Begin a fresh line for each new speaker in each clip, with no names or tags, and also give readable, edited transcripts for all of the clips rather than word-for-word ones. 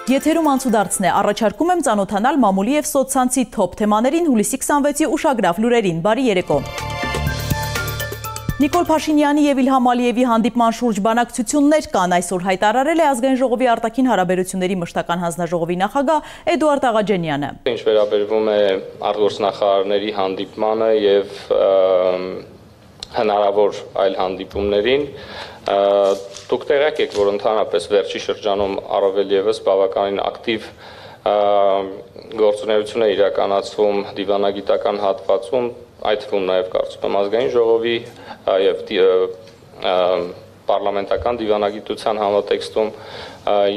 Եթերում անցուդարձն է, առաջարկում եմ ծանոթանալ մամուլի և սոցցանցի թոփ թեմաներին հուլիսի 26-ի ուշագրավ լուրերին, բարի երեկո։ Նիկոլ Փաշինյանի և Իլհամ Ալիևի հանդիպման շուրջ բանակցություններ կան, այսօր հայտարարել է Ազգային ժողովի արտաքին հարաբերությունների մշտական հանձնաժողովի նախագահ Էդուարդ Աղաջանյանը։
Ինչ վերաբերվում է արտգործնախարարների հանդիպմանը և հնարավոր այլ հանդիպումներին, դուք տեղյակ եք, որ ընդհանրապես վերջի շրջանում առավել ևս բավականին ակտիվ գործունեություն է իրականացվում դիվանագիտական հատվածում, այդ թվում նաև կարծում եմ Ազգային ժողովի և պարլամենտական դիվանագիտության համատեքստում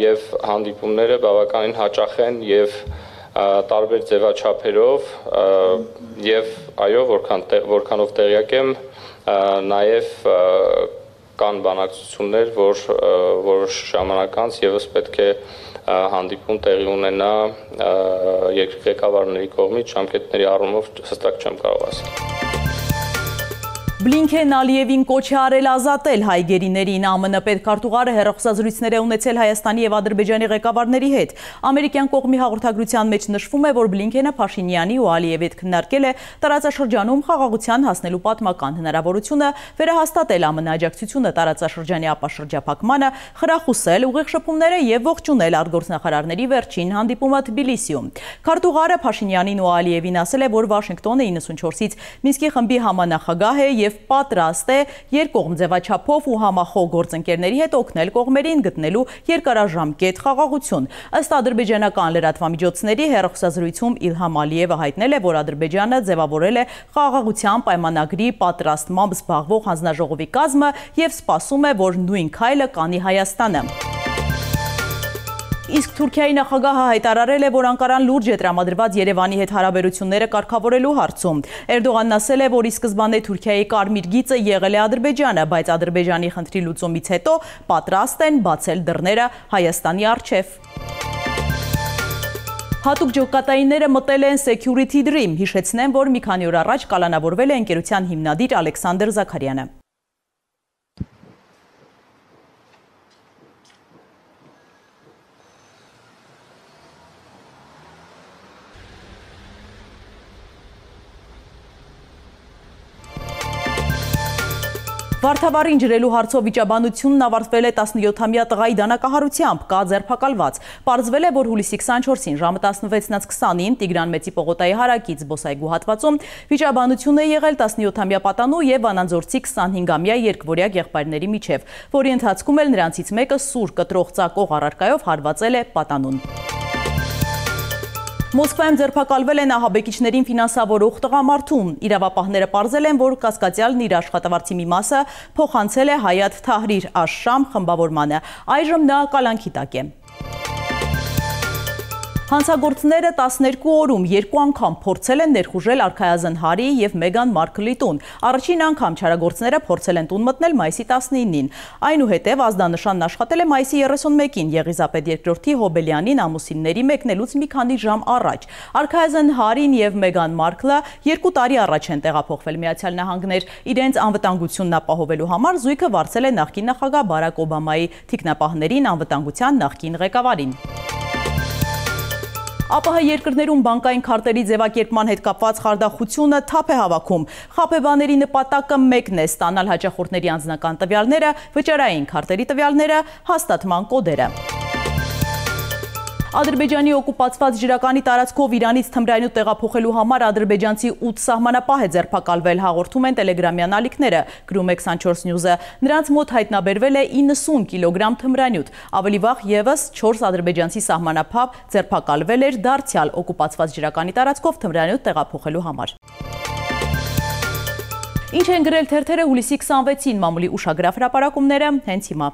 և հանդիպումները բավականին հաճախ են և տարբեր ձևաչափերով և այո, որքանով տեղյակ եմ, նաև կան բանակցություններ, որ որոշ ժամանակ անց ևս պետք է հանդիպում տեղի ունենա երկրի ղեկավարների կողմից, ժամկետների առումով հստակ չեմ կարող ասել։
Բլինքեն Ալիևին կոչ է արել ազատել հայ գերիներին, ԱՄՆ պետքարտուղարը հեռախոսազրույցներ է ունեցել Հայաստանի և Ադրբեջանի ղեկավարների հետ։ Ամերիկյան կողմի հաղորդագրության մեջ նշվում է, որ Բլինքենը Փաշինյանի ու Ալիևի հետ քննարկել է տարածաշրջանում խաղաղության հասնելու պատմական հնարավորությունը, վերահաստատել ԱՄՆ աջակցությունը տարածաշրջանի ապաշրջափակմանը, խրախուսել ուղիղ շփումները և ողջունել արտգործնախարարների վերջին հանդիպումը Թբիլիսիում։ Քարտուղարը Փաշինյանին ու Ալիևին ասել է, որ Վաշինգտոնը 94-ից Մինսկի խմբի համանախագահ է և պատրաստ է երկկողմ ձևաչափով ու համախոհ գործընկերների հետ օգնել կողմերին գտնելու երկարաժամկետ խաղաղություն։ Ըստ ադրբեջանական լրատվամիջոցների հեռախոսազրույցում Իլհամ Ալիևը հայտնել է, որ Ադրբեջանը ձևավորել է խաղաղության պայմանագրի պատրաստմամբ զբաղվող հանձնաժողովի կազմը և սպասում է, որ նույն քայլը կանի Հայաստանը։ Իսկ Թուրքիայի նախագահը հայտարարել է, որ Անկարան լուրջ է տրամադրված Երևանի հետ հարաբերությունները կարգավորելու հարցում։ Էրդողանն ասել է, որ ի սկզբանե Թուրքիայի կարմիր գիծը եղել է Ադրբեջանը, բայց Ադրբեջանի խնդրի լուծումից հետո պատրաստ են բացել դռները Հայաստանի առջև։ Հատուկ ջոկատայինները մտել են Security Dream, հիշեցնեմ, որ մի քանի օր առաջ կալանավորվել է ընկերության հիմնադիր Ալեքսանդր Զաքարյանը։ Վարդավառին ջրելու հարցով վիճաբանությունն ավարտվել է 17-ամյա տղայի դանակահարությամբ, կա ձերբակալված։ Պարզվել է, որ հուլիսի 24-ին ժամը 16:20-ին Տիգրան Մեծի պողոտայի հարակից զբոսայգու հատվածում վիճաբանություն է եղել 17-ամյա պատանու և Վանաձորցի 25-ամյա երկվորյա եղբայրների միջև, որի ընթացքում էլ նրանցից մեկը սուր կտրող ծակող առարկայով հարվածել է պատանուն։ Մոսկվայում ձերբակալվել են ահաբեկիչներին ֆինանսավորող տղամարդու։ Իրավապահները պարզել են, որ կասկածյալն իր աշխատավարձի մի մասը փոխանցել է Հայաթ Թահրիր Աշ-Շամ խմբավորմանը։ Այժմ նա կալանքի տակ է։ Հանցագործները 12 օրում 2 անգամ փորձել են ներխուժել Արքայազն Հարի և Մեգան Մարքլի տուն։ Առաջին անգամ չարագործները փորձել են տուն մտնել մայիսի 19-ին։ Այնուհետև ազդանշանն աշխատել է մայիսի 31-ին Եղիզապետ II Հոբելյանին ամուսինների մեկնելուց մի քանի ժամ առաջ։ Արքայազն Հարին և Մեգան Մարքլը 2 տարի առաջ են տեղափոխվել Միացյալ Նահանգներ։ Իրենց անվտանգությունն ապահովելու համար զույգը վարձել է նախկին նախագահ Բարակ Օբամայի թիկնապահներին, անվտանգության նախկին ղեկավարին։ ԱՊՀ երկրներում բանկային քարտերի ձևակերպման հետ կապված խարդախությունը թափ է հավաքում։ Խաբեբաների նպատակը մեկն է՝ ստանալ հաճախորդների անձնական տվյալները, վճարային քարտերի տվյալները, հաստատման կոդերը։ Ադրբեջանի օկուպացված ջրականի տարածքով Իրանից թմրանյութ տեղափոխելու համար ադրբեջանցի 8 սահմանապահ է ձերբակալվել, հաղորդում են տելեգրամյան ալիքները, գրում է 24 News-ը։ Նրանց մոտ հայտնաբերվել է 90 կիլոգրամ թմրանյութ։ Ավելի վաղ ևս 4 ադրբեջանցի սահմանապահ ձերբակալվել էր դարձյալ օկուպացված ջրականի տարածքով թմրանյութ տեղափոխելու համար։ Ինչ են գրել թերթերը հուլիսի 26-ին, մամուլի ուշագրավ հրապարակումները հենց հիմա։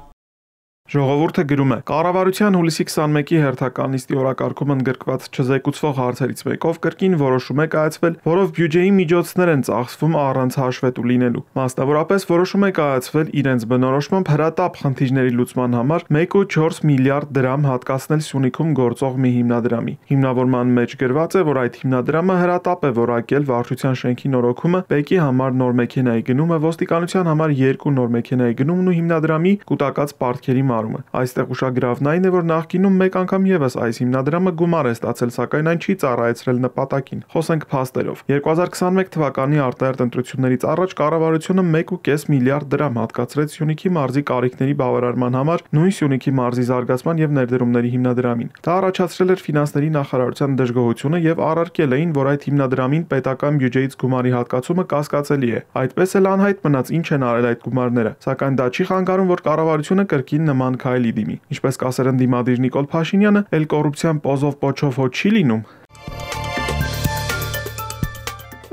Ժողովուրդը գրում է. Կառավարության հուլիսի 21-ի հերթական նիստի օրակարգում ընդգրկված չզեկուցվող հարցերից մեկով կրկին որոշում է կայացվել, որով բյուջեի միջոցներ են ծախսվում առանց հաշվետու լինելու։ Մասնավորապես որոշում է կայացվել իրենց բնորոշմամբ հրատապ խնդիրների լուծման համար 1.4 միլիարդ դրամ հատկացնել Սյունիքում գործող մի հիմնադրամի։ Հիմնավորման մեջ գրված է, որ այդ հիմնադրամը հրատապ է որակել վարչության շենքի նորոգումը, բեկի համար նոր մեքենայի գնումը, ոստիկանության համար 2 նոր մեքենայի գնումն ու հիմնադրամի կուտակած պարտքերի հայտարարումը։ Այստեղ ուշագրավն այն է, որ նախկինում մեկ անգամ եւս այս հիմնադրամը գումար է ստացել, սակայն այն չի ծառայեցրել նպատակին։ Խոսենք փաստերով։ 2021 թվականի արտահերթ ընտրություններից առաջ կառավարությունը 1.5 միլիարդ դրամ հատկացրեց Սյունիքի մարզի կարիքների բավարարման համար նույն Սյունիքի մարզի զարգացման եւ ներդրումների հիմնադրամին։ Դա առաջացրել էր ֆինանսների նախարարության դժգոհությունը եւ առարկել էին, որ այդ հիմնադրամին պետական բյուջեից գումարի հատկացումը կասկածելի է։ Այդպես էլ անհայտ մնաց ինչ են արել այդ գումարները, սակայն դա չի խանգարում, որ կառավարությունը կրկին նման քայլի դիմի։ Ինչպես կասեր ընդդիմադիր Նիկոլ Փաշինյանը, էլ կոռուպցիան պոզով պոչով հո չի լինում։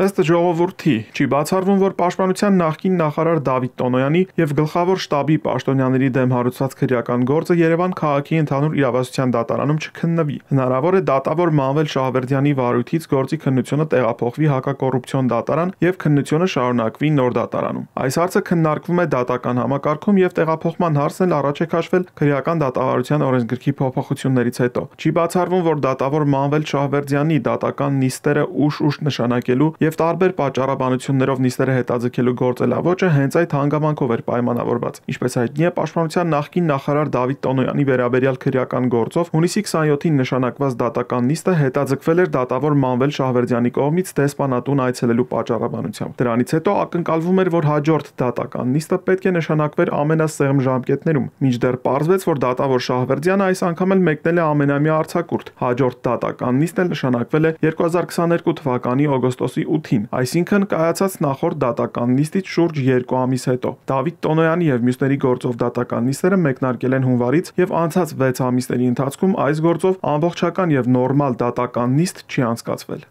Ըստ ժողովրդի, չի բացառվում, որ Պաշտպանության նախկին նախարար Դավիթ Տոնոյանի եւ գլխավոր շտաբի պաշտոնյաների դեմ հարուցված քրեական գործը Երևան քաղաքի ընդհանուր իրավասության դատարանում չքննվի։ Հնարավոր է դատավոր Մանվել Շահվերդյանի վարույթից գործի քննությունը տեղափոխվի հակակոռուպցիոն դատարան եւ քննությունը շարունակվի նոր դատարանում։ Այս հարցը քննարկվում է դատական համակարգում եւ տեղափոխման հարցն էլ առաջ է քաշվել քրեական դատավարության օրենսգրքի փոփոխություններից հետո։ Չի բացառվում, որ դատավոր Մանվել Շահվերդյանի դատական նիստերը ուշ նշանակելու եւ տարբեր պատճառաբանություններով նիստերը հետաձգելու գործելավոճը հենց այդ հանգամանքով էր պայմանավորված։ Ինչպես հայտնի է, Պաշտպանության նախկին նախարար Դավիթ Տոնոյանի վերաբերյալ քրեական գործով հունիսի 27-ին նշանակված դատական նիստը հետաձգվել էր դատավոր Մանվել Շահվերդյանի կողմից դեսպանատուն այցելելու պատճառաբանությամբ։ Դրանից հետո ակնկալվում էր, որ հաջորդ դատական նիստը պետք է նշանակվեր ամենասեղմ ժամկետներում, մինչդեռ պարզվեց, որ դատավոր Շահվերդյանը այս անգամ էլ մեկնել է ամենամյա արձակուրդ։ Հաջորդ դատական նիստն էլ նշանակվել է 2022 թվականի օգոստոսի 8-ին, այսինքն կայացած նախորդ դատական նիստից շուրջ 2 ամիս հետո։ Դավիթ Տոնոյանի եւ մյուսների գործով դատական նիստերը մեկնարկել են հունվարից եւ անցած 6 ամիսների ընթացքում այս գործով ամբողջական եւ նորմալ դատական նիստ չի անցկացվել։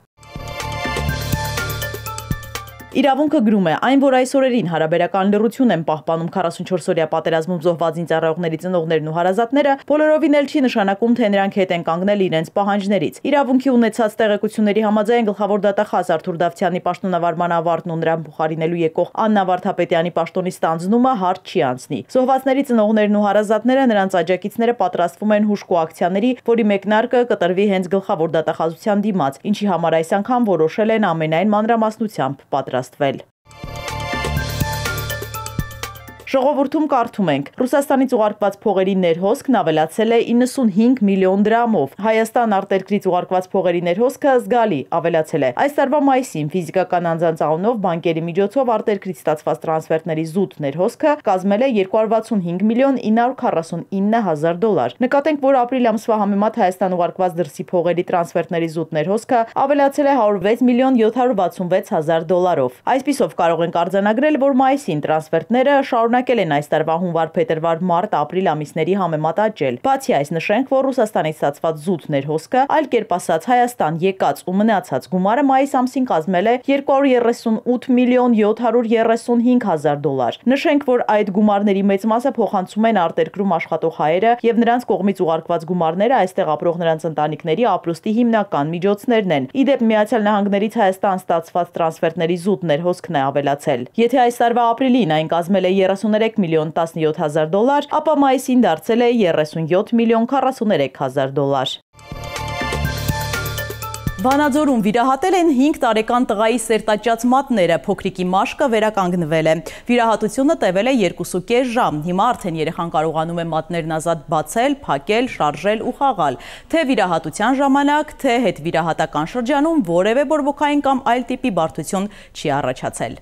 Իրավունքը գրում է, այն, որ այս օրերին հարաբերական լռություն են պահպանում 44-օրյա պատերազմում զոհված ինձարայողների ծնողներն ու հարազատները, բոլորովին էլ չի նշանակում, թե նրանք հետ են կանգնել իրենց պահանջներից։ Իրավունքի ունեցած տեղեկությունների համաձայն գլխավոր դատախազ Արթուր Դավթյանի պաշտոնավարման ավարտն ու նրան փոխարինելու եկող Աննա Վարդապետյանի պաշտոնի ստանձնումը հարց չի անցնի։ Զոհվածների ծնողներն ու հարազատները, նրանց աջակիցները պատրաստվում են հուժկու ակցիաների, որի մեկնարկը կտրվի հենց գլխավոր դատախազության դիմաց, ինչի համար այս անգամ որոշել են ամենայն մանրամասնությամբ պատրաստվել։ Ժողովրդում կարդում ենք. Ռուսաստանից ուղարկված փողերի ներհոսքն ավելացել է 95 միլիոն դրամով։ Հայաստան արտերկրից ուղարկված փողերի ներհոսքը զգալի ավելացել է։ Այս տարվա մայիսին ֆիզիկական անձանց անունով բանկերի միջոցով արտերկրից ստացված տրանսֆերտների զուտ ներհոսքը կազմել է 265 միլիոն 949 հազար դոլար։ Նկատենք, որ ապրիլ ամսվա համեմատ Հայաստան ուղարկված դրսի փողերի տրանսֆերտների զուտ ներհոսքը ավելացել է 106 միլիոն 766 հազար դոլարով։ Այսպիսով կարող ենք արձանագրել, որ մայիսին տրանսֆերտները շարունակել են այս տարվա հունվար, փետրվար, մարտ, ապրիլ ամիսների համեմատ աճել։ Բացի այս, նշենք, որ Ռուսաստանից ստացված զուտ ներհոսքը, այլ կերպ ասած Հայաստան եկած ու մնացած գումարը մայիս ամսին կազմել է 238 միլիոն 735 հազար դոլար։ Նշենք, որ այդ գումարների մեծ մասը փոխանցում են արտերկրում աշխատող հայերը եւ նրանց կողմից ուղարկված գումարները այստեղ ապրող նրանց ընտանիքների ապրուստի հիմնական միջոցներն են։ Իդեպ Միացյալ Նահանգներից Հայաստան ստացված տրանսֆերտների զուտ ներհոսքն է ավելացել։ Եթե այս տարվա ապրիլին այն կազմել է 33 միլիոն 17 հազար դոլար, ապա մայիսին դարձել է 37 միլիոն 43 հազար դոլար։ Վանաձորում վիրահատել են 5 տարեկան տղայի սերտաճած մատները, փոքրիկի մաշկը վերականգնվել է։ Վիրահատությունը տևել է 2.5 ժամ, հիմա արդեն երեխան կարողանում է մատներն ազատ բացել, փակել, շարժել ու խաղալ։ Թե վիրահատության ժամանակ, թե հետվիրահատական շրջանում որևէ բորբոքային կամ այլ տիպի բարդություն չի առաջացել։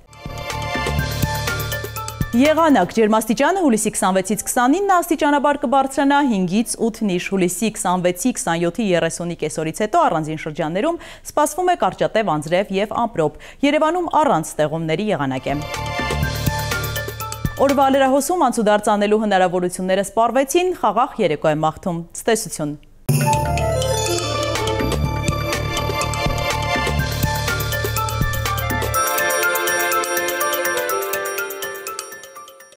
Եղանակ ջերմաստիճանը հուլիսի 26-ից 29 աստիճանաբար կբարձրանա 5-ից 8-ից, հուլիսի 26-ի 27-ի 30-ի կեսօրից հետո առանձին շրջաններում սպասվում է կարճատև անձրև եւ ամպրոպ։ Երևանում առանց ստեղումների եղանակ է։ Օրվա լրահոսում անցուդարձ անելու հնարավորությունները սպառվեցին, խաղաղ երեկո է մաղթում։ Ցտեսություն։